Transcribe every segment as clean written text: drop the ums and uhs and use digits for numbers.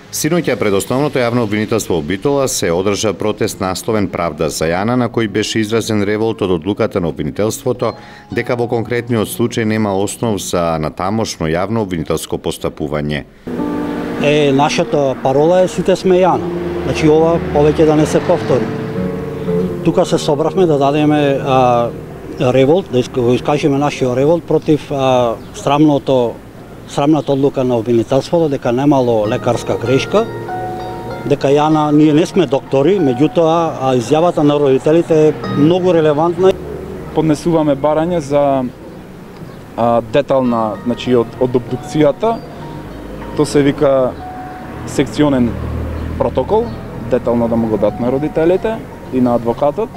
Синоќа пред основното јавно обвинителство во Битола се одржа протест насловен Правда за Јана, на кој беше изразен револт од одлуката на обвинителството дека во конкретниот случај нема основ за натамошно јавно обвинителско постапување. Нашата парола е сите сме Јана. Значи ова повеќе да не се повтори. Тука се собравме да дадеме револт, да го искажеме нашиот револт против срамната одлука на обвинителството дека немало лекарска грешка, дека Јана, ние не сме доктори, меѓутоа изјавата на родителите е многу релевантна. Поднесуваме барање за детална, значи од обдукцијата, то се вика секционен протокол, детално да му го дадат на родителите и на адвокатот,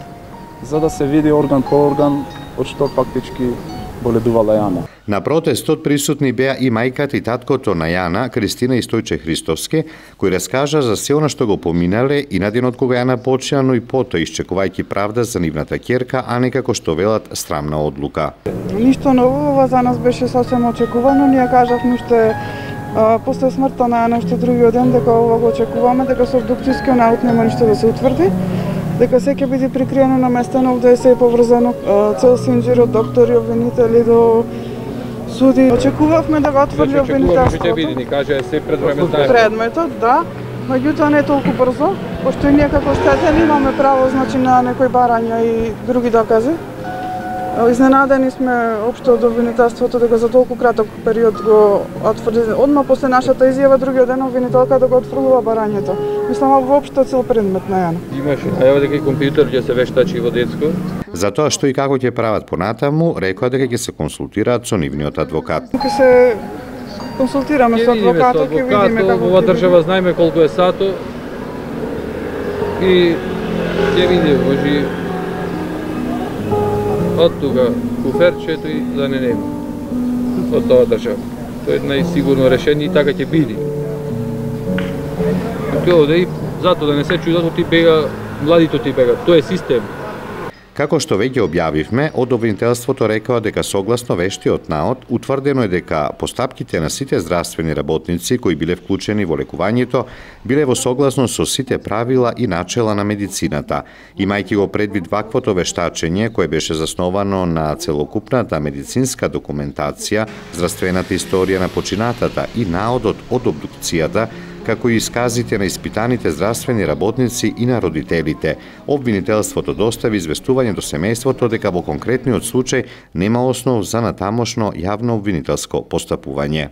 за да се види орган по орган од што фактички боледувала Јана. На протестот присутни беа и мајката и таткото на Јана, Кристина и Стојче Христовски, кои раскажа за се она што го поминале и на денот кога Јана почина, но и потоа исчекувајќи правда за нивната ќерка, а не како што велат срамна одлука. Ништо ново, ова за нас беше сосем очекувано. Ние кажавме уште после смртта на Јана уште другиот ден дека ова го очекуваме, дека со обдукцијскиот наут нема ништо да се утврди, дека се ќе биде прикриено на местено, овде се е поврзано цел синџир од доктори, обвинители до суди. Очекувавме да го отврди обвинителството. Ќе биде, ни каже се пред време знаеме. Предметот, да, меѓутоа не толку брзо, пошто и ние како штетени имаме право, значи, на некои барања и други докази. Изненадени сме општо од обвинителството дека за толку краток период го отврди. Одма после нашата изјава другиот ден обвинителка да го отфрлува барањето. Мислам, воопшто цел предмет на Јана. Имаше, а ево дека и компјутер ќе се вештачи во детско. За тоа што и како ќе прават понатаму, рекоа дека ќе се консултираат со нивниот адвокат. Ќе се консултираме со адвокатот, ќе видиме како ова држава знаеме колку е сато и ќе видиме, може од тука куферчето и да не нема од тоа држава. Тоа е најсигурно решение и така ќе биде. Тоа да и затоа да не се чудат ти бега, младите ти бега. Тоа е систем. Како што веќе објавивме, од обвинителството рекоа дека согласно вештиот наод, утврдено е дека постапките на сите здравствени работници кои биле вклучени во лекувањето биле во согласност со сите правила и начела на медицината, имајќи го предвид ваквото вештачење кое беше засновано на целокупната медицинска документација, здравствената историја на починатата и наодот од обдукцијата, како и исказите на испитаните здравствени работници и на родителите. Обвинителството достави известување до семејството дека во конкретниот случај нема основ за натамошно јавно обвинителско постапување.